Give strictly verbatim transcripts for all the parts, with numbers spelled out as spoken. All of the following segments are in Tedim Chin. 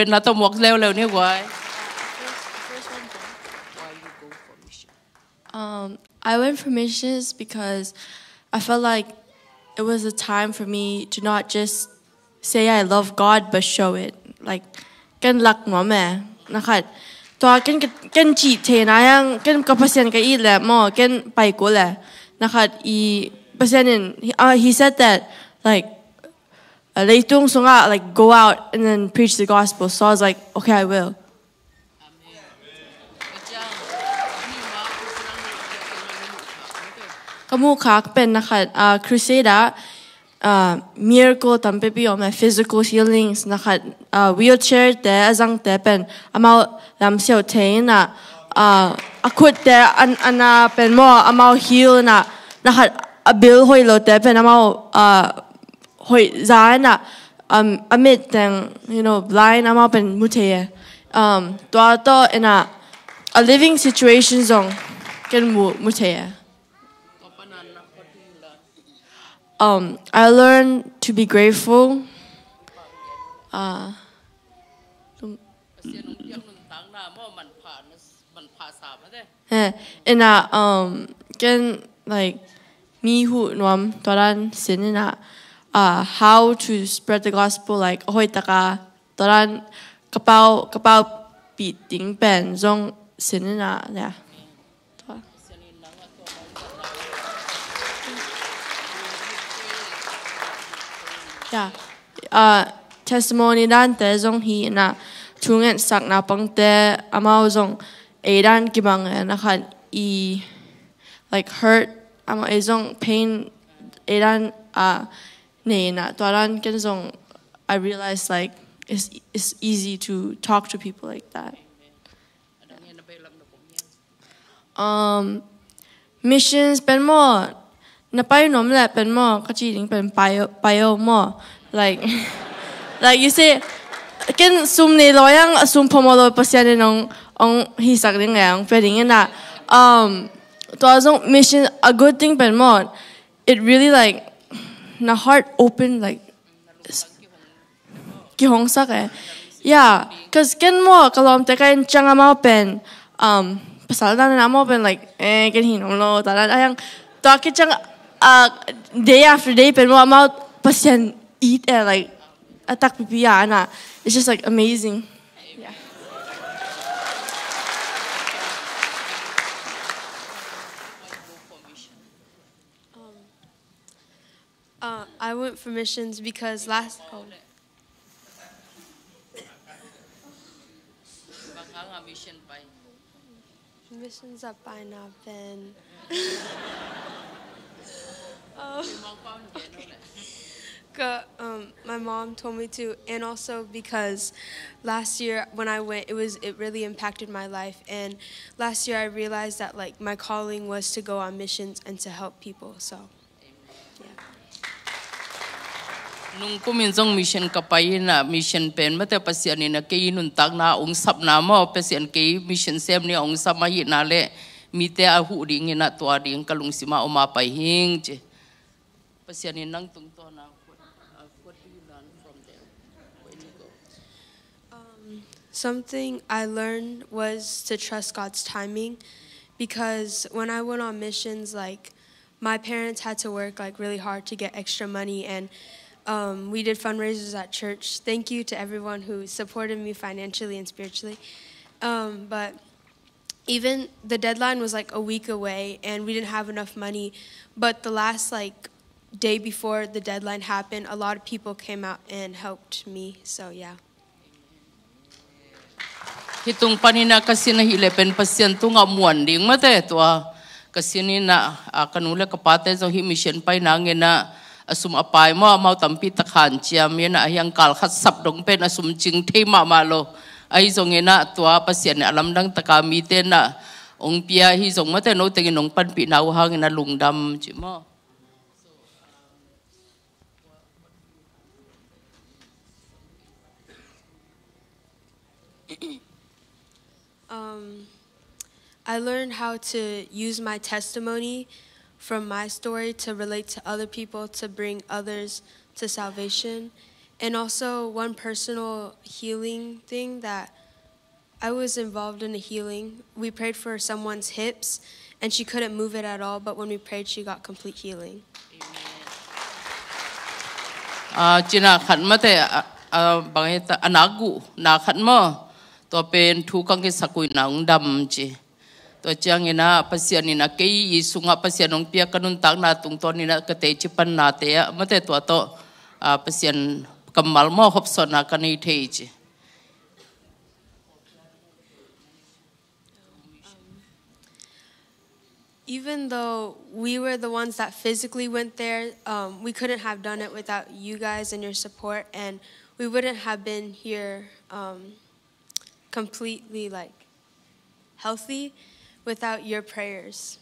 Pen na to muak leuleu ni guai. Um, I went for missions because I felt like it was a time for me to not just say I love God but show it. Like, ken lak nuam e. Nakhat tua ken, ken cih thei na yang ken ka Pasian ka it le maw, ken pai kul e. Nakhat i Pasian in, he, uh, he said that, like, uh, leitung sungah, like, go out and then preach the gospel. So I was like, okay, I will. Ka muhkhak pen nakhat, uh, crusade ah, uh, miracle tampipi om e, physical healings, nakhat, uh, wheelchair te a zangte pen amau lamsiau thei in ah, uh, a khutte an, ana pen maw amau heal in ah, nakhat a bil hoih lote pen amau, uh, hoih za in ah, um, a mit teng, you know, blind amau pen mu thei e. Um, tua tawh in ah a living situation zong ken mu, mu thei e. Um, I learned to be grateful. Uh, eh, in ah, um, ken, like, mi huh nuam tua dan sin in ah, uh, how to spread the gospel, like, a hoih taka tua dan ka pau, ka pau pih ding pen zong sin in ah, yeah. Tua. Yeah. Uh, testimony dante zong hi in ah, thunget sak naupangte amau zong ei dan kibang e, nakhat i, like, hurt, amau ei zong pain ei dan, uh, nei in ah, tua dan ken zong I realized, like, it's, it's easy to talk to people like that. Um, missions pen maw, na pai nuam le pen maw, ka ci ding pen pai, pai o maw. Like, like, you say, ken sum nei lo yang, a sum phomo lo Pasian in ong, ong hisak ding e, ong pia ding in ah. Um, tua zong mission, a good thing pen maw, it really, like, na heart open, like, kihongsak e. Yeah, 'cause ken maw, ka lawmte ka en ciang amau pen, um, pasal dan amau pen, like, eh, ken hi nuam lo, ta dan, a yang, tua ki ciang, uh, day after day pen maw, amau Pasian it e, like, a takpipi a na. It's just, like, amazing. Yeah. Um, Uh, I went for missions because last, oh. Missions a pai na pen. Oh. Ka, um, my mom told me to, and also because last year when I went, it was, it really impacted my life. And last year I realized that, like, my calling was to go on missions and to help people. So. Nungkumin zong mission ka pai in ah, mission pen mate Pasian in ah kei nuntakna ong sapna maw, Pasian kei mission sem ni ong sap ahihna le mite a huh ding in ah tua ding ka lungsim ah om a pai hing ci. Pasian in nang tungtawn ah, what, uh, what do you learn from there when you go? Um, something I learned was to trust God's timing, because when I went on missions, like, my parents had to work, like, really hard to get extra money, and, um, we did fundraisers at church. Thank you to everyone who supported me financially and spiritually. Um, but even the deadline was, like, a week away, and we didn't have enough money. But the last, like, day before the deadline happened, a lot of people came out and helped me. So, yeah. Hih tung panin ah ka sin ahih leh pen Pasian tungah muan ding mate tua. Ka sin in ah, a, ka nu le ka pate zong hih mission pai nangin ah a sum a pai maw, amau tampi tak hanciam in ah, a hiang kal khat sap dong pen a sum cing thei mahmah lo. Ahi zongin ah tua Pasian in a lamdang taka mite in ah ong pia hi zong mate, no tengin ong panpihna uh hangin a lungdam ci maw. Um, I learned how to use my testimony from my story to relate to other people, to bring others to salvation. And also, one personal healing thing that I was involved in a healing. We prayed for someone's hips, and she couldn't move it at all, but when we prayed, she got complete healing. Ah, cina khat mate, ah, ah, bang heta, a nak gu, na khat mo. Tua pen thu kang ke sakui na ung dam ci. Tua ciang ina Pasian ina kei i sunga Pasian ung piak ka nuntak na tung ton ina ka te ci pan na te a mate tua to, ah, Pasian kammal mo hop son na ka nei thei ci. Even though we were the ones that physically went there, um, we couldn't have done it without you guys and your support, and we wouldn't have been here, um, completely, like, healthy without your prayers.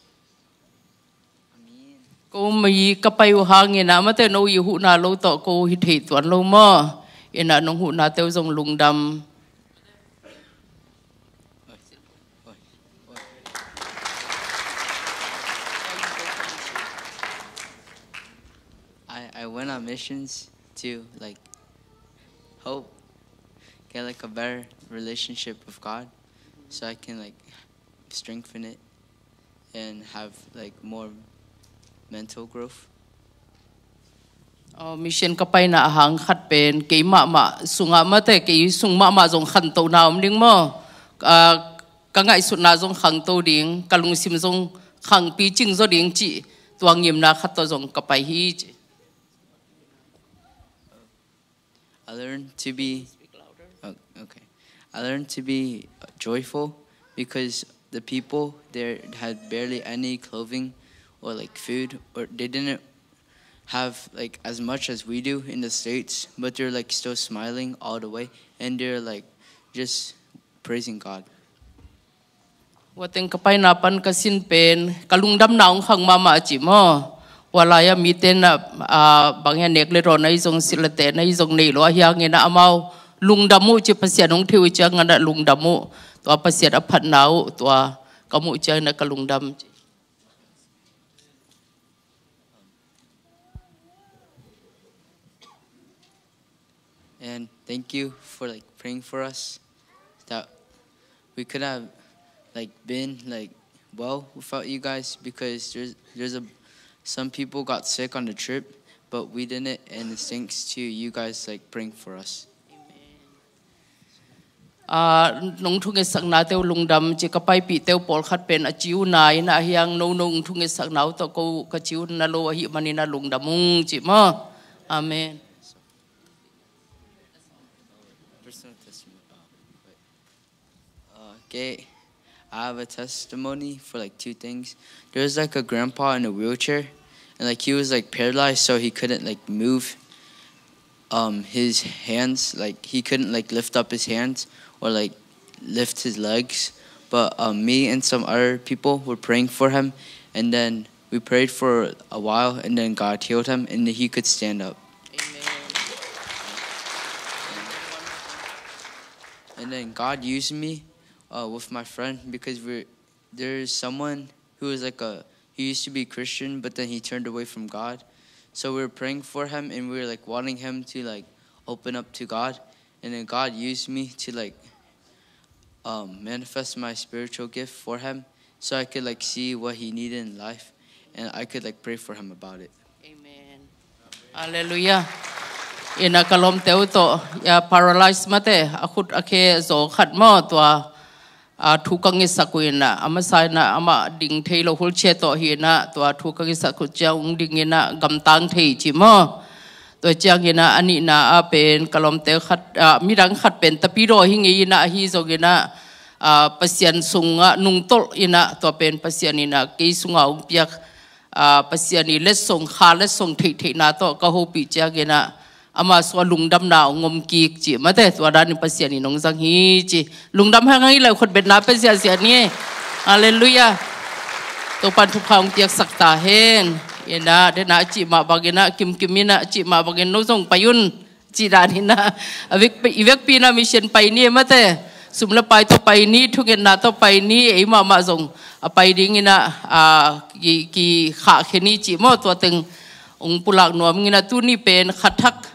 Ko mi ka pai uh hang ina mate no i huhna lo to ko hi thei tuan lo mo. Ina nong huhna teu zong lungdam. I, I went on missions to, like, hope get, like, a better relationship with God, so I can, like, strengthen it and have, like, more mental growth. Oh, mission ka paina a hang khat pen kei mahmah sungah mate kei sung mahmah zong khanto na om ding maw? Ah, ka ngaihsutna zong khangto ding, ka lungsim zong khangpi cing zaw ding cih tua ngimna khat tawh zong ka pai hi ci. I learned to be, oh, okay. I learned to be joyful because the people there had barely any clothing or, like, food, or they didn't have, like, as much as we do in the States, but they're, like, still smiling all the way, and they're, like, just praising God. Ua teng ka paina pan ka sin pen ka lungdamna hong khang mahmah ci maw? Ua lai-a mite na, ah, bang hian nek le rawn ahi zong silh le tehna ahi zong nei lo ahi hangin ah amau lungdam uh ci Pasian hong thei uh ciangin ah lungdam uh. Tua Pasian a phatna uh tua ka muh ciangin ah ka lungdam ci. And thank you for, like, praying for us. That we could have, like, been, like, well without you guys, because there's there's a some people got sick on the trip, but we didn't, and it's thanks to you guys, like, praying for us. Ah, nong thungetsakna teu lungdam ci ka paipih teu pawlkhat pen a ci uh na in ah hiang no no thungetsakna uh tawh ko ka ci uh na lo ahi manin ah lungdam ung ci maw? Amen. Personal testimony. Uh, okay, I have a testimony for, like, two things. There was, like, a grandpa in a wheelchair, and, like, he was, like, paralyzed, so he couldn't, like, move, um, his hands. Like, he couldn't, like, lift up his hands or, like, lift his legs. But, um, me and some other people were praying for him, and then we prayed for a while, and then God healed him, and he could stand up. And then God used me, uh, with my friend, because we're there's someone who is, like, a he used to be Christian, but then he turned away from God. So we were praying for him, and we were, like, wanting him to, like, open up to God, and then God used me to, like, um, manifest my spiritual gift for him, so I could, like, see what he needed in life, and I could, like, pray for him about it. Amen. Halleluiah. Ina ka lawmte uh tawh, ya, paralyze mate, a khut a khe zaw khat maw tua, a, thu ka ngetsak uh ina, a masa ina, amah ding thei lo wheelchair tawh hi ina, tua thu ka ngetsak uh ciang ung ding ina, gamtang thei ci maw? Tua ciang ina, a nihna a pen, ka lawmte khat, a, midang khat pen, tapidaw hi ngei ina, ahi zong ina, a, Pasian sungah nungtolh ina, tua pen Pasian ina, kei sungah ung piak, a, Pasian i letsong, kha letsong theihtheihna tawh ka hopih ciang ina, ama sua lungdamna ong om kik ci mate, tua danin Pasian in ong zang hi ci. Lungdam hang hang i lai khut betna pe ziahziah ni. Halleluiah. Topan thupha ong piaksak ta hen. Ina, dena cih mah bangin ah, kimkim ina cih mah bangin no zong pai un. Cih danin ah, a vekpi, i vekpi ina mission pai ni mate. Sum le pai tawh pai ni, thungetna tawh pai ni, ei mahmah zong a pai ding ina, a, ki, ki khah khe ni cih maw tua teng ong pulak nuam ina tuni pen khathak